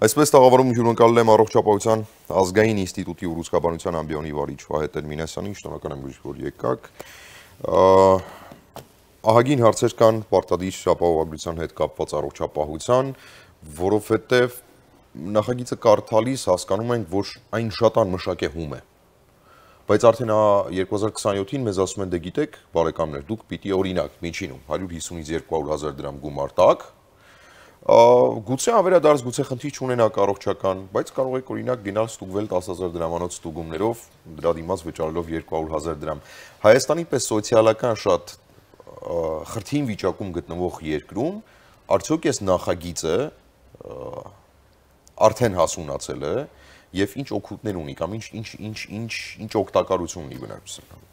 Այսպես տաղավարում հյուրընկալել եմ առողջապահության ազգային ինստիտուտի ուռուցքաբանության ամբիոնի վարիչ Վահե Տեր-Մինասյանին, շնորհակալ եմ որ եկաք։ Ահագին հարցեր կան պարտադիր ապահովագրության հետ կապված առողջապահության, որովհետև նախագիծը կարդալիս հասկանում ենք, որ այն շատ անմշակ է հում է։ Բայց արդեն 2027-ին մեզ ասում են, դե գիտեք, բարեկամներ, դուք պիտի օրինակ միջինում 150-ից 200,000 դրամ գումար տաք, գուցե ավերադարձ, գուցե խնդիր չունենաք առողջական, բայց կարող եք օրինակ գնալ ստուգվել 10,000 դրամանոց ստուգումներով, դրա դիմաց վճարելով 200,000 դրամ։ Հայաստանի պես սոցիալական շատ խրթին վիճակում գտնվող երկրում, արդյոք այս նախագիծը արդեն հասունացել է եւ ինչ օգուտներ ունի կամ ինչ օգտակարություն ունի բնակչությանը։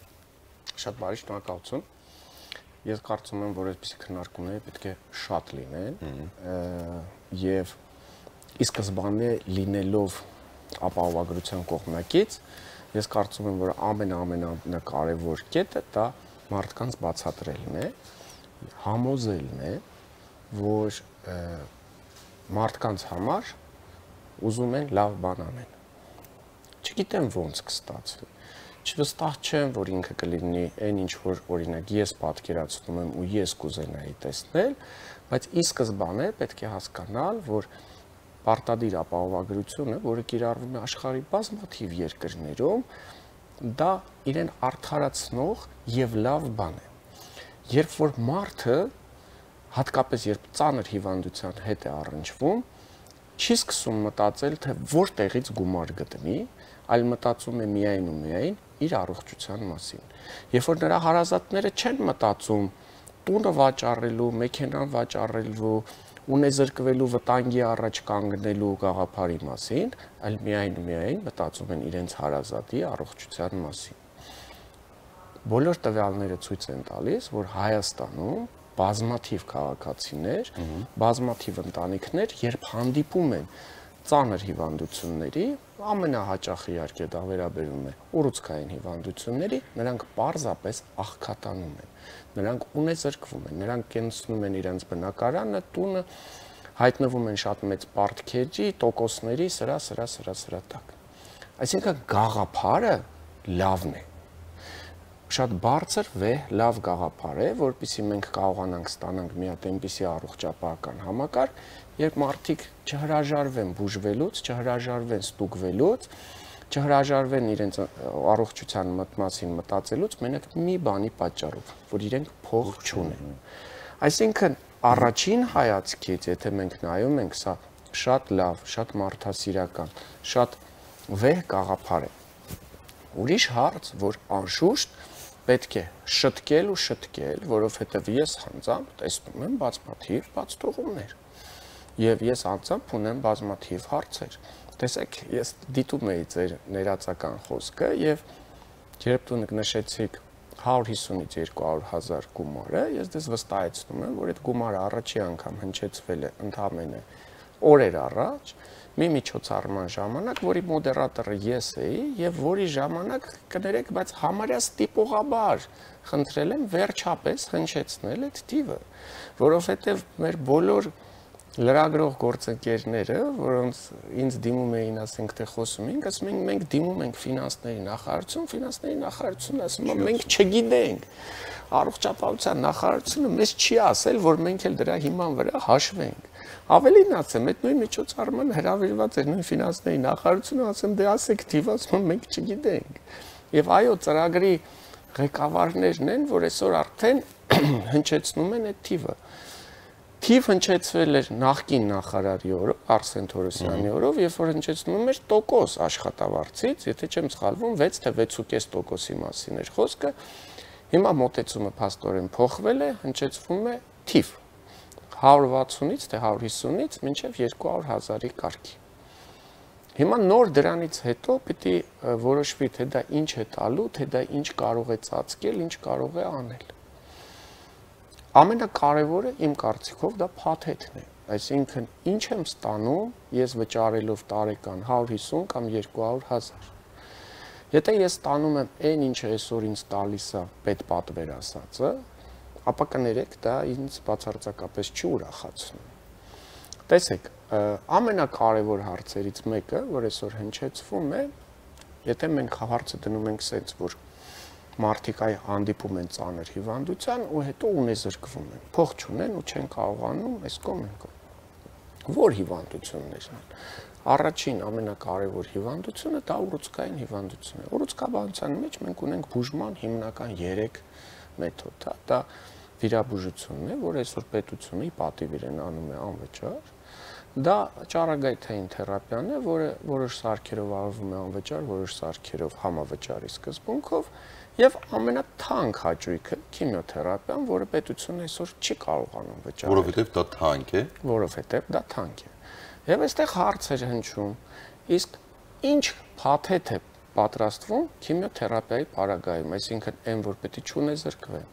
Շատ բարի, շնորհակալություն։ Ես կարծում եմ, որ այսպիսի քննարկումները պետք է շատ լինեն եւ ի սկզբանե լինելով ապահովագրության կողմնակից, ես կարծում եմ, որ ամենակարևոր կետը դա մարդկանց բացատրելն է, համոզելն է, որ մարդկանց համար ուզում են լավ բան անեն։ Չգիտեմ ոնց կստացվի։ Չվստահ չեմ, որ ինքը կլինի այն ինչ որ օրինակ ես պատկերացնում եմ ու ես կուզենայի տեսնել, բայց ի սկզբանե պետք է հասկանալ, որ պարտադիր ապահովագրությունը, որը կիրառվում է աշխարհի բազմաթիվ երկրներում, դա իրեն արդարացնող եւ լավ բան է։ Երբ որ մարդը, հատկապես երբ ծանր հիվանդության հետ է առնչվում, չի սկսում մտածել, թե որտեղից գումար գտնի, այլ մտածում է միայն ու միայն իր առողջության մասին։ Երբ որ նրա հարազատները չեն մտածում տունը վաճառելու, մեքենան վաճառելու, ունեզրկվելու վտանգի առաջ կանգնելու գաղափարի մասին, այլ միայն ու միայն մտածում են իրենց հարազատի առողջության մասին։ Բոլոր տվյալները ցույց են տալիս, որ Հայաստանում բազմաթիվ քաղաքացիներ, բազմաթիվ ընտանիքներ, երբ հանդիպում են ծանր հիվանդությունների, ամենահաճախ իհարկե դա վերաբերում է ուռուցքային հիվանդությունների, նրանք պարզապես աղքատանում են, նրանք ունեզրկվում են, նրանք կենցնում են իրենց բնակարանը, տունը, հայտնվում են շատ մեծ պարտքերի, տոկոսների, սրա տակ։ Այսինքն գաղափարը լավն է։ Շատ բարձր վեհ լավ գաղափար է, որպեսզի մենք կարողանանք ստանանք մի հատ այնպիսի առողջապահական համակարգ, երբ մարդիկ չհրաժարվեն բուժվելուց, չհրաժարվեն ստուգվելուց, չհրաժարվեն իրենց առողջության մասին մտածելուց, մենակ մի բանի պատճառով, որ իրենք փող չունեն։ Այսինքն առաջին հայացքից, եթե մենք նայում ենք, սա շատ լավ, շատ մարդասիրական, շատ վեհ գաղափար է։ Ուրիշ հարց, որ անշուշտ պետք է շտկել ու շտկել, որովհետև ես անձամբ տեսնում եմ բազմաթիվ բացթողումներ եւ ես անձամբ ունեմ բազմաթիվ հարցեր։ Տեսեք, ես դիտում էի ձեր ներածական խոսքը եւ երբ դուք նշեցիք 150-ից 200,000 գումարը, ես դες վստահեցնում եմ, որ այդ գումարը առաջի անգամ հնչեցվել է ընդամենը օրեր առաջ, մի միջոցառման ժամանակ, որի մոդերատորը ես էի եւ որի ժամանակ կներեք, բայց համարյա ստիպողաբար խնդրել եմ վերջապես հնչեցնել այդ թիվը, որովհետեւ մեր բոլոր լրագրող գործընկերները, որոնց ինձ դիմում էին, ասենք թե խոսում ենք, ասում են մենք դիմում ենք ֆինանսների նախարարություն ասում է մենք չգիտենք։ Առողջապահության նախարարությունը մեզ չի ասել, որ մենք էլ դրա հիման վրա հաշվենք։ Ավելին ասեմ, այդ նույն միջոցառմանը հրավիրված էր նույն ֆինանսների նախարարությունը, ասեմ դե ասեք թիվ, ասում մենք չգիտենք։ Եվ այո, ծրագրի ղեկավարներն են, որ այսօր արդեն հնչեցնում են այդ թիվը։ Թիվ հնչեցվել էր նախկին նախարարի օրով, Արսեն Թորոսյանի օրով, երբ որ հնչեցնում էր տոկոս աշխատավարձից, եթե չեմ սխալվում, 6 թե 6.5%-ի մասին էր խոսքը, հիմա մոտեցումը փաստորեն փոխվել է, հնչեցվում է թիվ 160-ից թե 150-ից մինչև 200,000-ի կարգի։ Հիմա նոր դրանից հետո պիտի որոշվի, թե դա ինչ է տալու, թե դա ինչ կարող է ծածկել, ինչ կարող է անել։ Ամենակարևորը իմ կարծիքով դա փաթեթն է, այսինքն ինչ եմ ստանում ես վճարելով տարեկան 150 կամ 200,000։ Եթե ես ստանում եմ այն ինչը այսօր ինձ տալիս է պետպատվեր ասածը, ապա կներեք դա ինձ բացարձակապես չի ուրախացնում։ Տեսեք, ամենակարևոր հարցերից մեկը, որ այսօր հնչեցվում է, եթե մենք հարցը դնում ենք սենց, որ մարդիկ հանդիպում են ծանր հիվանդության ու հետո ունեզրկվում են, փող չունեն ու չեն կարողանում այս կողմ են կողմ։ Որ հիվանդություններն են։ Առաջին ամենակարևոր հիվանդությունը դա ուռուցքային հիվանդությունն է։ Ուռուցքաբանության մեջ մենք ունենք բուժման հիմնական 3 մեթոդ, դա վիրաբուժությունն է, որ այսօր պետությունը ի պատիվ իրեն անում է անվճար։ Դա ճառագայթային թերապիան է, որը որոշ սարքերով արվում է անվճար, որոշ սարքերով համավճարի սկզբունքով, եւ ամենաթանկ հաճույքը քիմիոթերապիան, որը պետությունը այսօր չի կարողանում վճարել։ Որովհետեւ դա թանկ է։ Որովհետեւ դա թանկ է։ Եվ այստեղ հարց էր հնչում, իսկ ինչ փաթեթ է պատրաստվում քիմիոթերապիայի պարագայում, այսինքն այն, որ պետք է չունեզրկվեն։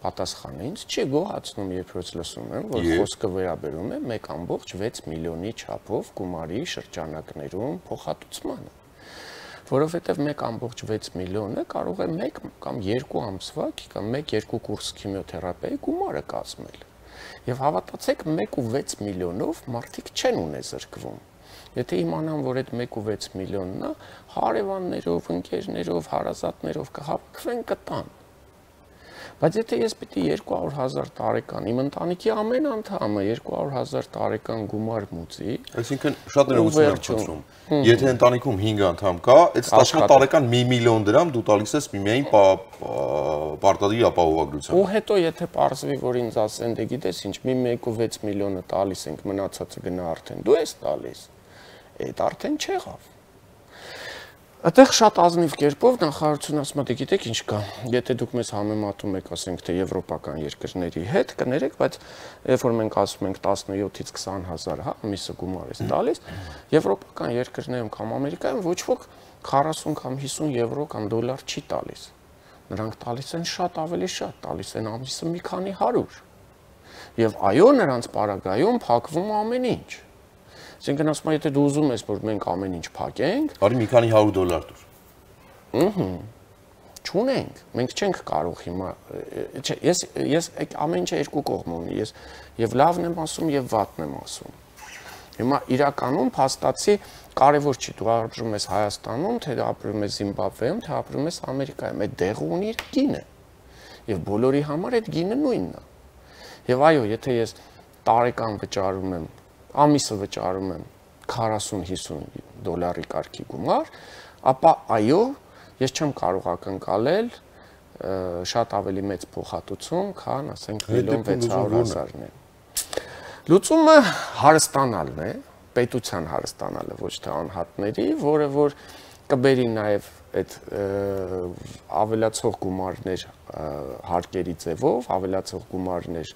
Պատասխանը ինձ չի գոհացնում, երբ որ լսում եմ, որ խոսքը վերաբերում է 1.6 միլիոնի չափով գումարի շրջանակներում փոխհատուցմանը։ Որովհետև 1.6 միլիոնը կարող է 1 կամ 2 ամսվա կամ 1-2 կուրս քիմիոթերապիայի գումարը կազմել։ Եվ հավատացեք, 1.6 միլիոնով մարդիկ չեն ունեզրկվում։ Եթե իմանան, որ այդ 1.6 միլիոնն է, հարևաններով, ընկերներով, հարազատներով կհավաքվեն կտան։ Բայց եթե ես պիտի 200,000 տարեկան իմ ընտանիքի ամեն անդամը 200,000 տարեկան գումար մուծի, այսինքն շատ ներողություն եմ խնդրում։ Եթե ընտանիքում 5 անդամ կա, այդ 10 տարեկան 1 միլիոն դրամ դու տալիս ես միայն պարտադիր ապահովագրությամբ։ Ու հետո եթե պարզվի, որ ինձ ասեն, դե գիտես ինչ, մի 1.6 միլիոնը տալիս ենք, մնացածը գնա արդեն դու ես տալիս, այդ արդեն չեղավ։ Այդտեղ շատ ազնիվ կերպով նախարարությունը ասում է, դե գիտեք ինչ կա, եթե դուք մեզ համեմատում եք, ասենք թե եվրոպական երկրների հետ, կներեք, բայց երբ որ մենք ասում ենք 17-ից 20,000, հա, ամիսը գումար է տալիս, եվրոպական երկրներում կամ Ամերիկայում ոչ ոք 40 կամ 50 եվրո կամ դոլար չի տալիս։ Նրանք տալիս են շատ ավելի շատ, տալիս են ամիսը մի քանի 100։ Եվ այո, նրանց պարագայում փակվում ամեն ինչ։ Այսինքն ասում եմ, եթե դու ուզում ես, որ մենք ամեն ինչ փակենք, արի մի քանի $100 տուր։ Չունենք, մենք չենք կարող հիմա, ես ամեն ինչը երկու կողմ ունի, ես եւ լավն եմ ասում եւ վատն եմ ասում։ Հիմա իրականում փաստացի կարևոր չի, դու ապրում ես Հայաստանում, թե ապրում ես Զիմբաբվեում, թե ապրում ես Ամերիկայում, այդ դեղը ունի իր գինը։ Եւ բոլորի համար այդ գինը նույնն է։ Եվ այո, եթե ես տարեկան վճարում եմ ամիսը վճարում եմ 40-50 դոլարի կարգի գումար, ապա այո, ես չեմ կարող ակնկալել շատ ավելի մեծ փոխհատուցում, քան ասենք 1.6 միլիոն։ Լուծումը հարստանալն է, պետության հարստանալը, ոչ թե անհատների, որը որ կբերի նաև այդ ավելացող գումարներ հարկերի ձևով, ավելացող գումարներ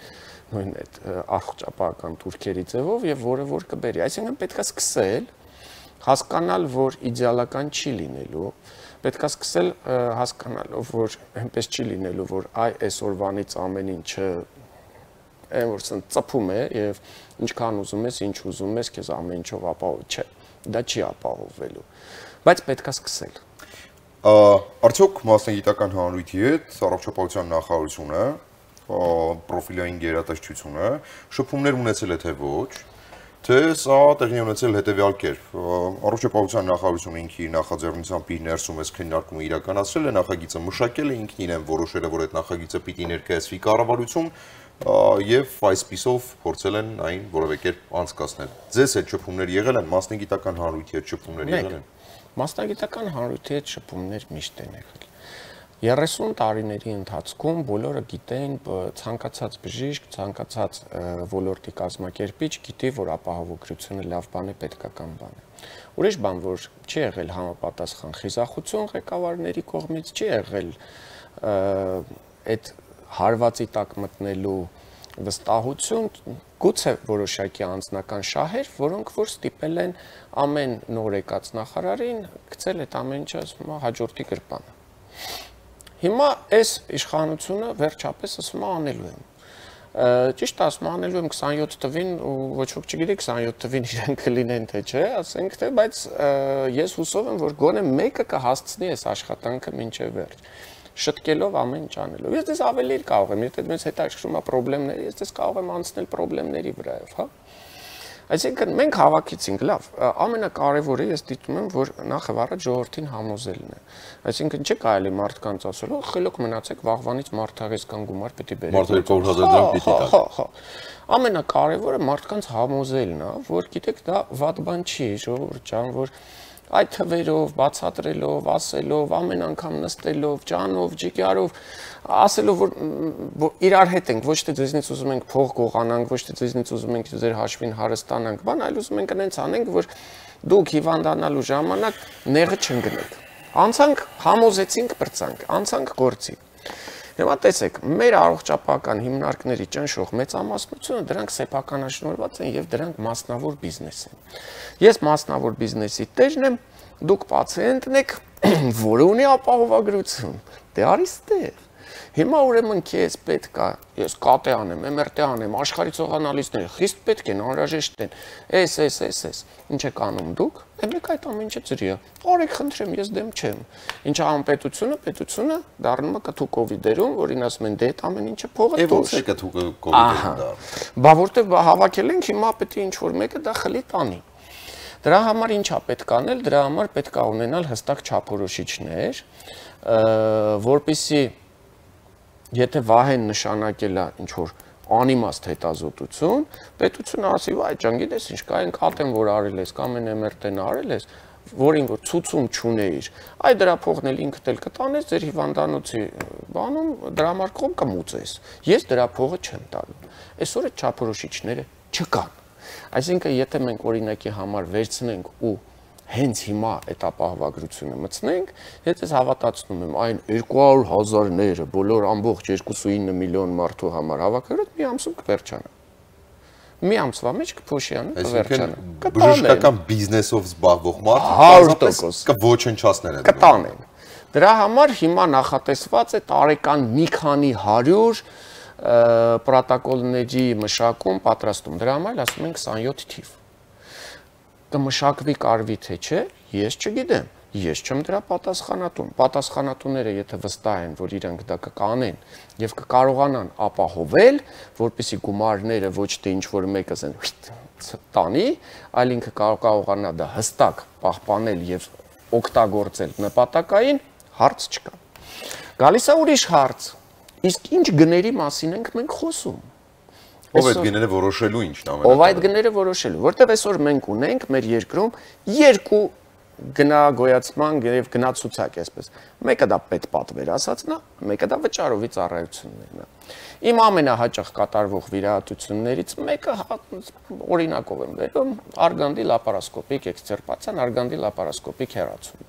նույն այդ առողջապահական турքերի ձևով եւ որը որ կբերի։ Այսինքն պետք է սկսել հասկանալ, որ իդեալական չի լինելու, պետք է սկսել հասկանալով, որ այնպես չի լինելու, որ այսօրվանից ամեն ինչը այն որ ծփում է եւ ինչքան ուզում ես, ինչ ուզում ես, քեզ ամեն ինչով ապահով չէ։ Դա չի ապահովվելու։ Բայց պետք է սկսել։ Արդյոք մասնագիտական հանրույթի հետ առողջապահության նախարարությունը պրոֆիլային գերատեսչությունը շփումներ ունեցել է թե ոչ, թե սա տեղի ունեցել հետևյալ կերպ։ Առողջապահության նախարարությունը ինքի նախաձեռնությամբ իր ներսում այս քննարկումը իրականացրել է, նախագիծը մշակել է, ինքն իրեն որոշել է, որ այդ նախագիծը պիտի ներկայացվի կառավարություն եւ այսպիսով փորձել են այն որևէ կերպ անցկացնել։ Ձեզ այդ շփումներ եղել են, մասնագիտական հանրույթի հետ շփումներ եղել են։ Մասնագիտական հանրույթի հետ շփումներ միշտ են եղել։ 30 տարիների ընթացքում բոլորը գիտեն, ցանկացած բժիշկ, ցանկացած ոլորտի կազմակերպիչ գիտի, որ ապահովագրությունը լավ բան է, պետքական բան է։ Ուրիշ բան, որ չի եղել համապատասխան խիզախություն ղեկավարների կողմից, չի եղել այդ հարվածի տակ մտնելու վստահություն, գուցե որոշակի անձնական շահեր, որոնք որ ստիպել են ամեն նոր եկած նախարարին գցել այդ ամեն ինչը հաջորդի գրպանը։ Հիմա այս իշխանությունը վերջապես ասում է անելու եմ։ Ճիշտ ասում անելու եմ 27 տվին ու ոչ ոք չգիտի 27 տվին իրենք կլինեն թե չէ, ասենք թե, բայց ես հուսով եմ, որ գոնե մեկը կհասցնի այս աշխատանքը մինչև վերջ։ Շտկելով ամեն ինչ անելով։ Ես դες ավելի կարող եմ, եթե մեզ հետաքրքրում է խնդիրները, ես դες կարող եմ անցնել խնդիրների վրայով, հա։ Այսինքն մենք հավաքեցինք, լավ, ամենակարևորը ես դիտում եմ, որ նախ եւ առաջ ժողովրդին համոզելն է։ Այսինքն չի կարելի մարդկանց ասել, խելոք մնացեք, վաղվանից մարդահեսկան գումար պետք է բերեք։ Մարդը 200,000 դրամ պիտի տա։ Հա։ Ամենակարևորը մարդկանց համոզելն է, որ գիտեք, դա վատ բան չի, ժողովուրդ ջան, որ այդ թվերով, բացատրելով, ասելով, ամեն անգամ նստելով, ջանով, ջիգարով, ասելով, որ իրար հետ ենք, ոչ թե ձեզնից ուզում ենք փող գողանանք, ոչ թե ձեզնից ուզում ենք ձեր հաշվին հարստանանք, բան, այլ ուզում ենք այնց անենք, որ դուք հիվանդանալու ժամանակ նեղը չընկնեք։ Անցանք, համոզեցինք, բրցանք, անցանք գործի։ Հիմա տեսեք, մեր առողջապահական հիմնարկների ճնշող մեծամասնությունը դրանք սեփականաշնորհված են եւ դրանք մասնավոր բիզնես են։ Ես մասնավոր բիզնեսի տերն եմ, դուք պացիենտն եք, որը ունի ապահովագրություն։ Դե արի ստեղ։ Հիմա ուրեմն քեզ պետք է, ես կատե անեմ, MRT անեմ, աշխարհի ցողանալիստները խիստ պետք են, անհրաժեշտ են։ Էս։ Ինչ եք անում դուք։ Մեկ այդ ամեն ինչը ծրի է։ Արեք, խնդրեմ, ես դեմ չեմ։ Ինչ անում պետությունը դառնում է կթուկովի դերում, որին ասում են դե այդ ամեն ինչը փողը դուրս։ Ո՞նց է կթուկովի դերում դա։ Բա որտեվ հավաքել ենք, հիմա պետք է ինչ որ մեկը դա խլի տանի։ Դրա համար ինչա պետք անել, դրա համար պետք է ունենալ հստակ չափորոշիչներ, որպեսզի եթե Վահեն նշանակել է ինչ որ անիմաստ հետազոտություն, պետությունը ասի, այ ջան, գիտես ինչ կա, այն կատեն որ արել ես, կամ այն MRT-ն արել ես, որին որ ցուցում չունեիր, այ դրա փողն էլ ինքդ էլ կտանես ձեր հիվանդանոցի բանում, դրա համար կողմ կմուծես։ Ես դրա փողը չեմ տալու։ Այսօր այդ չափորոշիչները չկան։ Այսինքն, եթե մենք օրինակի համար վերցնենք ու հենց հիմա այդ ապահովագրությունը մտցնենք, ես հավատացնում եմ այն 200,000-ները բոլոր ամբողջ 2.9 միլիոն մարդու համար հավաքագրած մի ամսում կվերջանա։ Մի ամսվա մեջ կփոշիանը կվերջանա։ Բժշկական բիզնեսով զբաղվող մարդը 100% կոչնչացնեն այդ կտանեն։ Դրա համար հիմա նախատեսված է տարեկան մի քանի 100 պրոտոկոլների մշակում, պատրաստում։ Դրա համար ասում են 27 թիվ։ Կմշակվի կարվի թե չէ, ես չգիտեմ, ես չեմ դրա պատասխանատուն։ Պատասխանատուները եթե վստահ են, որ իրենք դա կկանեն եւ կկարողանան ապահովել, որպեսզի գումարները ոչ թե ինչ որ մեկը տանի, այլ ինքը կարողանա դա հստակ պահպանել եւ օգտագործել նպատակային, հարց չկա։ Գալիս է ուրիշ հարց։ Իսկ ինչ գների մասին ենք մենք խոսում։ Ով այդ գները որոշելու ինչն ամենը։ Ով այդ գները որոշելու, որտեղ այսօր մենք ունենք մեր երկրում երկու գնագոյացման եւ գնացուցակ, այսպես։ Մեկը դա պետպատվեր ասածն է, մեկը դա վճարովի ծառայություններն է։ Իմ ամենահաճախ կատարվող վիրահատություններից մեկը օրինակով եմ վերում արգանդի լապարասկոպիկ էքսցերպացիան, արգանդի լապարասկոպիկ հեռացում։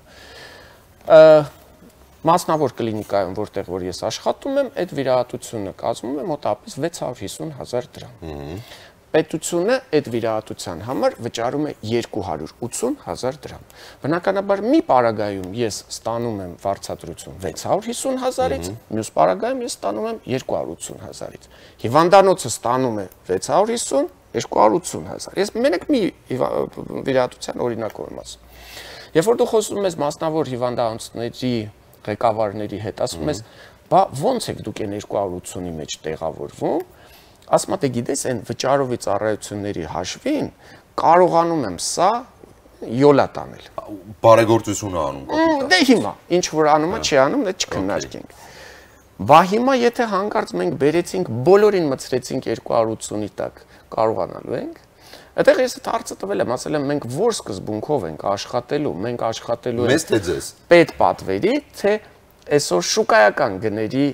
Մասնավոր կլինիկայում, որտեղ որ ես աշխատում եմ, այդ վիրահատությունը կազմում է մոտավորապես 650,000 դրամ։ Պետությունը այդ վիրահատության համար վճարում է 280,000 դրամ։ Բնականաբար մի պարագայում ես ստանում եմ վարձատրություն 650,000-ից, մյուս պարագայում ես ստանում եմ 280,000-ից։ Հիվանդանոցը ստանում է 650, 280,000։ Ես մենակ մի վիրահատության օրինակով եմ ասում։ Երբ որ դու խոսում ես մասնավոր հիվանդանոցների ղեկավարների հետ, ասում ես, բա ո՞նց եք դուք այն 280-ի մեջ տեղավորվում, ասում եք, գիտես, այն վճարովի ծառայությունների հաշվին կարողանում եմ սա յոլա տանել։ Բարեգործություն անում։ Դե հիմա, ինչ որ անում է, չի անում, դա չքննարկենք։ Բա հիմա եթե հանկարծ մենք բերեցինք, բոլորին մցրեցինք 280-ի տակ, կարողանալու ենք։ Այդտեղ ես այդ հարցը տվել եմ, ասել եմ, մենք որ սկզբունքով ենք աշխատելու, մենք աշխատելու ենք մեզ թե ձեզ պետպատվերի, թե այսօր շուկայական գների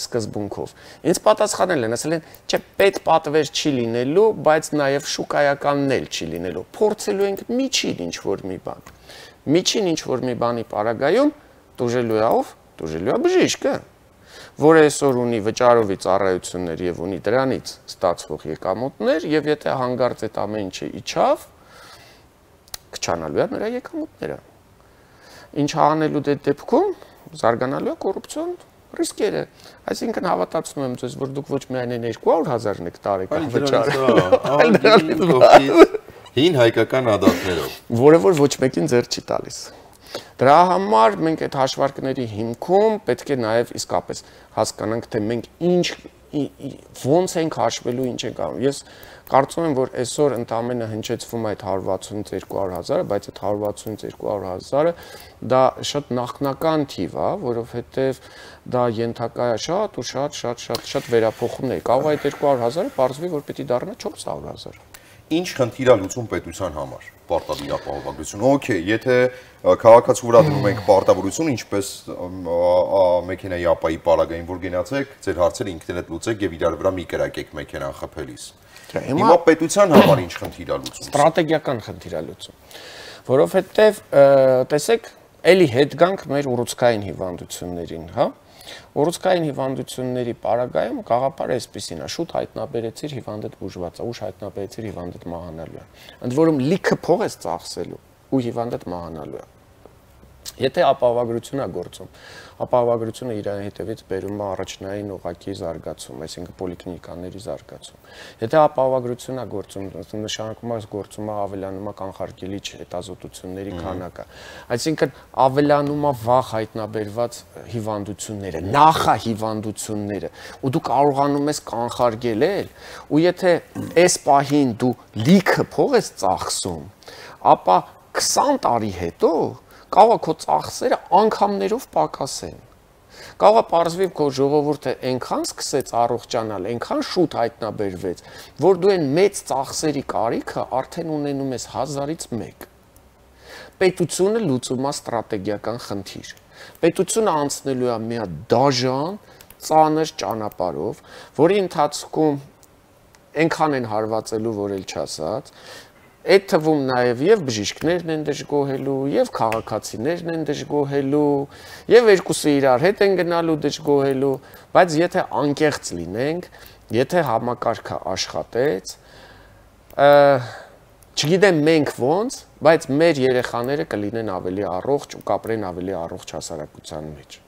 սկզբունքով։ Ինձ պատասխանել են, ասել են, չէ, պետպատվեր չի լինելու, բայց նաև շուկայականն էլ չի լինելու։ Փորձելու ենք միջին ինչ որ մի բան։ Միջին ինչ որ մի բանի պարագայում դուժելու է ով, դուժելու է բժիշկը, որը այսօր ունի վճարովի ծառայություններ եւ ունի դրանից ստացվող եկամուտներ եւ եթե հանգարց այդ ամեն ինչը իջավ, կչանալու է նրա եկամուտները։ Ինչ անելու դե դեպքում զարգանալու է կոռուպցիոն ռիսկերը։ Այսինքն հավատացնում եմ ձեզ, որ դուք ոչ միայն 200,000-ն եք տարեկան վճարում, հին հայկական ադատներով, որը որ ոչ մեկին ձեռ չի տալիս։ Դրա համար մենք այդ հաշվարկների հիմքում պետք է նաև իսկապես հասկանանք, թե մենք ինչ ոնց ենք հաշվելու, ինչ ենք անում։ Ես կարծում եմ, որ այսօր ընդամենը հնչեցվում է այդ 160-200 հազարը, բայց այդ 160-200 հազարը դա շատ նախնական թիվ է, որովհետև դա ենթակա է շատ ու շատ վերափոխումներ։ Կարող է այդ 200 հազարը պարզվի, որ պետք է դառնա 400 հազար։ Ինչ խնդիր է լուծում պետության համար պարտադիր ապահովագրություն։ Okay, եթե քաղաքացու վրա դնում ենք պարտավորություն, ինչպես մեքենայի ապայի պարագային, որ գնացեք, ձեր հարցերը ինքներդ լուծեք եւ իրար վրա մի կրակեք մեքենան խփելիս։ Հիմա պետության համար ինչ խնդիր է լուծում։ Ստրատեգիական խնդիր է լուծում, որովհետեւ տեսեք, էլի հետ գանք մեր ուռուցքային հիվանդություններին, հա։ Ուռուցքային հիվանդությունների պարագայում գաղափարը այսպեսին է, շուտ հայտնաբերեցիր հիվանդդ բուժված է, ուշ հայտնաբերեցիր հիվանդդ մահանալու է։ Ընդ որում լիքը փող ես ծախսելու ու հիվանդդ մահանալու է։ Եթե ապահովագրություն է գործում, ապահովագրությունը իր հետևից բերում է առաջնային ուղղակի զարգացում, այսինքն պոլիկլինիկաների զարգացում։ Եթե ապահովագրություն է գործում, նշանակում է գործում է ավելանում է կանխարգելիչ հետազոտությունների քանակը, այսինքն ավելանում է վաղ հայտնաբերված հիվանդությունները, նախահիվանդությունները, ու դու կարողանում ես կանխարգելել, ու եթե այս պահին դու լիքը փող ես ծախսում, ապա 20 տարի հետո կարող է քո ծախսերը անգամներով պակասեն։ Կարող է պարզվի քո ժողովուրդը այնքան սկսեց առողջանալ, այնքան շուտ հայտնաբերվեց, որ դու այն մեծ ծախսերի կարիքը արդեն ունենում ես 1000-ից 1։ Պետությունը լուծում է ստրատեգիական խնդիր։ Պետությունը անցնելու է մի դաժան, ծանր ճանապարհով, որի ընթացքում այնքան են հարվածելու, որ էլ չասած, այդ թվում նաև եւ բժիշկներն են դժգոհելու, եւ քաղաքացիներն են դժգոհելու, եւ երկուսը իրար հետ են գնալու դժգոհելու, բայց եթե անկեղծ լինենք, եթե համակարգը աշխատեց, չգիտեմ մենք ոնց, բայց մեր երեխաները կլինեն ավելի առողջ ու կապրեն ավելի առողջ հասարակության մեջ։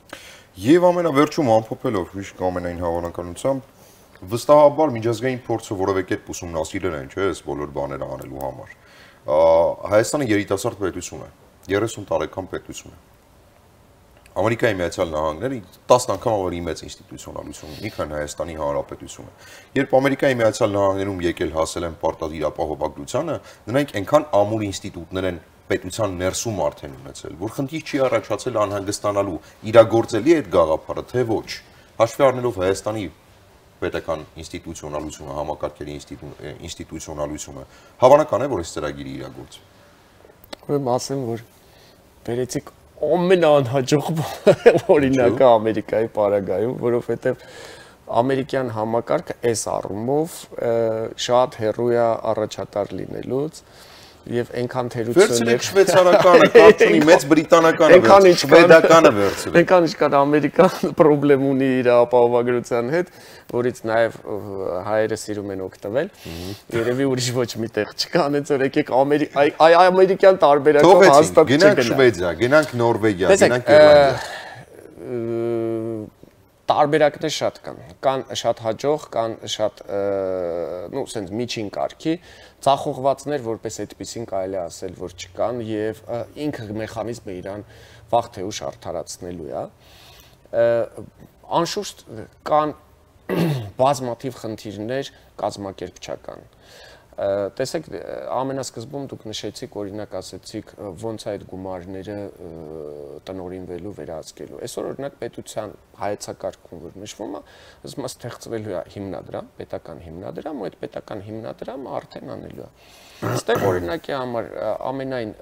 Եվ ամենավերջում ամփոփելով հիշք ամենայն հավանականությամբ վստահաբար միջազգային փորձը որևէ կերպ ուսումնասիրել են, չէ՞, այս բոլոր բաները անելու համար։ Հայաստանը երիտասարդ պետություն է, 30 տարեկան պետություն է։ Ամերիկայի Միացյալ Նահանգները 10 անգամ ավելի մեծ ինստիտուցիոնալություն ունի, քան Հայաստանի Հանրապետությունը։ Երբ Ամերիկայի Միացյալ Նահանգներում եկել հասել են պարտադիր ապահովագրությանը, նրանք այնքան ամուր ինստիտուտներ են պետության ներսում արդեն ունեցել, որ խնդիր չի առաջացել անհանգստանալու, իրագործելի է այդ գաղափարը, թե ոչ։ Հաշվի առնելով Հայաստանի պետական ինստիտուցիոնալությունը, համակարգերի ինստիտուցիոնալությունը, հավանական է, որ այս ծրագիրը իրագործվի։ Ուրեմն ասեմ, որ վերեցիք ամենաանհաջող օրինակը Ամերիկայի պարագայում, որովհետև ամերիկյան համակարգը այս առումով շատ հեռու է առաջատար լինելուց եւ այնքան թերություններ վերցրեք շվեյցարականը, կարծունի մեծ բրիտանականը, շվեդականը վերցրեք։ Այնքան ինչքան Ամերիկան խնդրեմ ունի իր ապահովագրության հետ, որից նաեւ հայերը սիրում են օգտվել։ Երևի ուրիշ ոչ մի տեղ չկա, այնց որ եկեք ամերիկյան տարբերակով հաստատ չգնա։ Գնանք Շվեդիա, գնանք Նորվեգիա, գնանք Իռլանդիա։ Տարբերակներ շատ կան շատ հաջող, կան շատ նո, ասենց միջին կարգի, ցախողվածներ, որպես այդպեսին կարելի է ասել, որ չկան եւ ինքը մեխանիզմը իրան վաղ թե ուշ արդարացնելու է։ Անշուշտ կան բազմաթիվ խնդիրներ կազմակերպչական։ Տեսեք, ամենասկզբում դուք նշեցիք, օրինակ ասեցիք, ոնց է այդ գումարները տնօրինվելու, վերահսկելու։ Այսօր օրինակ պետության հայեցակարգում որ նշվում է, ասում է ստեղծվելու է հիմնադրամ, պետական հիմնադրամ, ու այդ պետական հիմնադրամը արդեն անելու է։ Այստեղ օրինակի համար ամենայն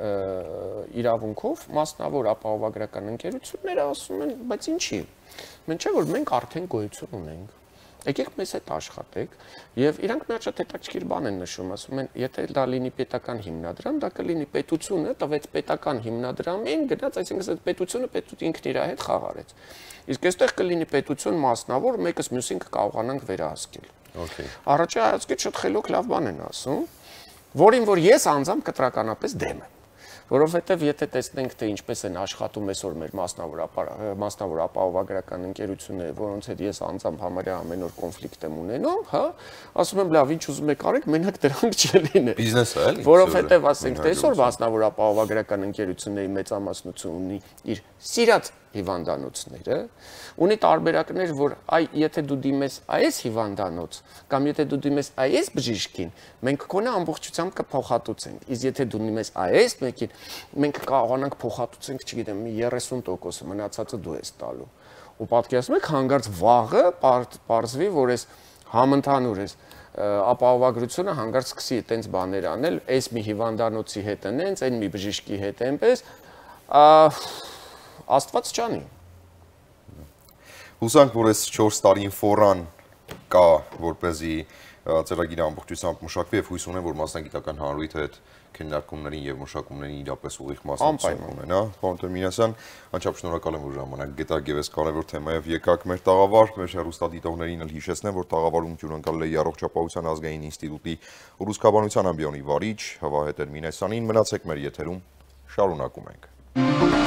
իրավունքով մասնավոր ապահովագրական ընկերությունները ասում են, բայց ինչի։ Մենք չէ որ մենք արդեն գոյություն ունենք։ Եկեք մեզ հետ աշխատեք եւ իրանք մի հատ շատ հետաքրքիր բան են նշում, ասում են, եթե դա լինի պետական հիմնադրամ, դա կլինի պետությունը տվեց պետական հիմնադրամին, գնաց, այսինքն այդ պետությունը ինքն իր հետ խաղարեց։ Իսկ այստեղ կլինի պետություն մասնավոր, մեկս մյուսին կկարողանանք վերահսկել։ Okay։ Առաջի հայացքից շատ խելոք լավ բան են ասում, որին որ ես անձամբ կտրականապես դեմ եմ։ Որովհետև եթե տեսնենք թե ինչպես են աշխատում այսօր մեր մասնավոր ապահովագրական ընկերությունները, որոնց հետ ես անձամբ համարյա ամեն օր կոնֆլիկտ եմ ունենում, հա, ասում եմ լավ, ինչ ուզում եք արեք, մենակ դրանք չլինի։ Բիզնես է, էլի։ Որովհետև ասենք թե այսօր մասնավոր ապահովագրական ընկերությունների մեծամասնությունը ունի իր սիրած հիվանդանոցները, ունի տարբերակներ, որ եթե դու դիմես այս հիվանդանոց կամ եթե դու դիմես այս բժիշկին, մենք քոնը ամբողջությամբ կփոխհատուցենք։ Իսկ եթե դու դիմես այս մեկին, մենք կարողանանք փոխհատուցենք, չգիտեմ, 30%, մնացածը դու ես տալու։ Ու պատկերացնում եք, հանկարծ վաղը պարզվի, որ այս համընդհանուր էս ապահովագրությունը հանկարծ սկսի այտենց բաներ անել, այս մի հիվանդանոցի հետ այնց, այն մի բժիշկի հետ այնպես, Աստված չանի։ Հուսանք, որ այս 4 տարին ֆորան կա, որպեսզի ծրագիրը ամբողջությամբ մշակվի եւ հույս ունեմ, որ մասնագիտական հանրույթը այդ քննարկումներին եւ մշակումներին իրապես ուղիղ մասնակցություն ունենա։ Պարոն Տեր-Մինասյան, անչափ շնորհակալ եմ, որ ժամանակ գտաք եւ այս կարեւոր թեմայով եկաք մեր տաղավար, մեր հեռուստադիտողներին էլ հիշեցնեմ, որ տաղավարում հյուրընկալել է Առողջապահության ազգային ինստիտուտի ռուսկաբանության ամբիոնի վարիչ Հավահե Տեր-Մինասյանին։ Մնացեք մեր եթերում, շարունակում ենք։